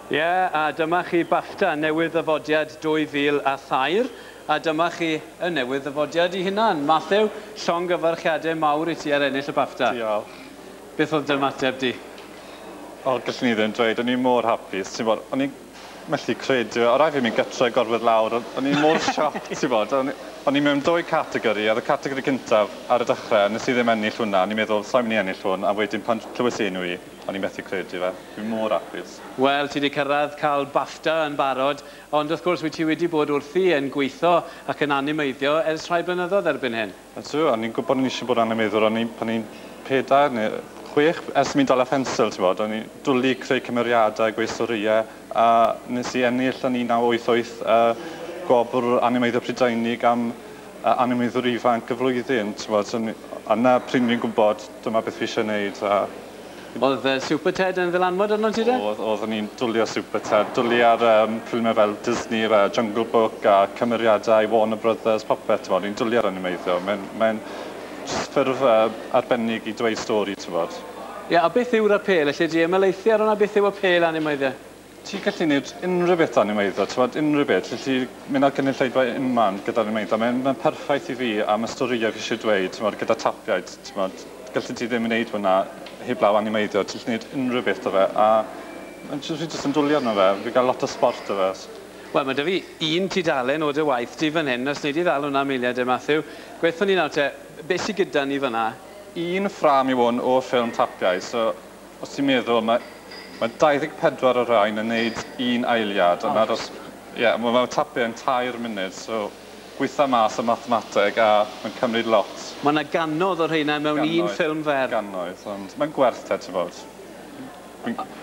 Ie, a dyma chi BAFTA newydd ddyfodiad 2003, a dyma chi y newydd ddyfodiad i hunan. Matthew, llongyfarchiadau mawr i ti ar ennill y BAFTA. Diolch. Beth oedd dy ymateb di? O, gallwn i ddim dweud, o'n i mor hapus, ti'n bod, o'n i'n methu credu, o rai fi mynd gytre gorfod lawr, o'n i mor sioc, ti'n bod, o'n i mewn dwy categori, oedd y categori cyntaf ar y dechrau, nes i ddim ennill hwnna, o'n i'n meddwl, sa'n mynd i ennill hwn, a wedyn pan clywes i enw i, o'n i'n methu credu fe, dwi'n mor hapus. Wel, ti wedi cyrraedd cael BAFTA yn barod, ond wrth gwrs wyt ti wedi bod wrthi yn gweithio ac yn animeiddio ers rhai blynyddoedd erbyn hyn. Ydw, o'n i'n gwybod o'n i eisiau bod animeiddwr, o'n i pan i'n 4 neu 6, ers i mi dal â phensel, ti'n bod, o'n i'n dwlu creu cymeriadau, gweud storïau, a nes i ennill yn 1988 gwobr animeiddio Prydeinig am animeiddwr ifanc y flwyddyn, ti'n bod, so, a na pryd ni'n gwybod dyma beth fi eisiau gwneud. A Oedd Super Ted yn ddylanwad arno ti de? Oedd ni'n dwlu ar Super Ted, dwlu ar ffilmiau fel Disney, Jungle Book a cymeriadau Warner Brothers, popeth, ti'n bod, ni'n dwlu ar animeiddio. Mae'n ffurf arbennig i dweud stori, ti'n bod. Ie, a beth yw'r apêl? Alle di ymhelaethu ar hwnna, beth yw apêl animeiddio? Ti'n gallu gwneud unrhyw beth animeiddio, ti'n bod, unrhyw beth. Ti'n gallu mynd ar gynulleidfa unman gyda'r animeiddio. Mae'n perffaith i fi am y storïau fi eisiau dweud, ti'n bod, gyda tapiaid, ti'n bod. Gallu ti ddim wneud hwnna heblaw animeiddio, ti'n gallu gwneud unrhyw beth o fe, a fi jyst yn dwlu arno fe, fi'n cael lot o sport o fe. Wel, mae 'da fi un tudalen o dy waith di fan hyn, os wnei di ddal hwnna am eiliad e, Matthew. Gweithio ni nawr te, beth sydd gyda ni fan'na? Un ffrâm yw hwn o ffilm tapiau, so os ti'n meddwl, mae 24 o rain yn neud un eiliad, a mae tapiau yn 3 munud, so gweitha mas y mathemateg a mae'n cymryd lot. Mae yna gannoedd o'r rheina mewn un ffilm fer. Gannoedd, ond mae'n gwerth te, ti'n bod.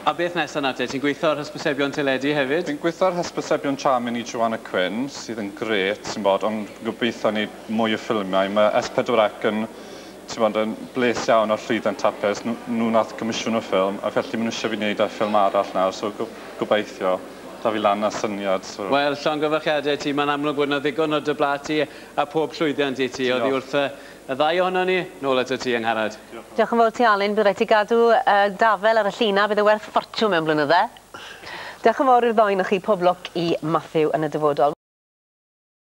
A beth nesaf nawr te? Ti'n gweithio ar hysbysebion teledu hefyd? Fi'n gweithio ar hysbysebion Charming i Joanna Quinn, sydd yn grêt, ti'n bod, ond gobeithio ni mwy o ffilmiau. Mae S4C yn, ti'n bod, yn bles iawn o'r llwyddiant tapiau, nhw nath comisiwn y ffilm, a felly maen nhw eisiau fi wneud ar ffilm arall nawr, so gobeithio. Da fi lan â syniad. So. Wel, llongyfarchiadau ti, mae'n amlwg bod yna ddigon o dy bla ti a pob llwyddiant i ti. Oddi wrth y ddau ohono ni, nôl ato ti, Angharad. Diolch yn fawr ti, Alun. Bydd rhaid ti gadw dafel ar y lluna, bydd e werth ffortiwn mewn blynydde. Diolch yn fawr i'r ddau ohonoch chi, pob lwc i Matthew yn y dyfodol.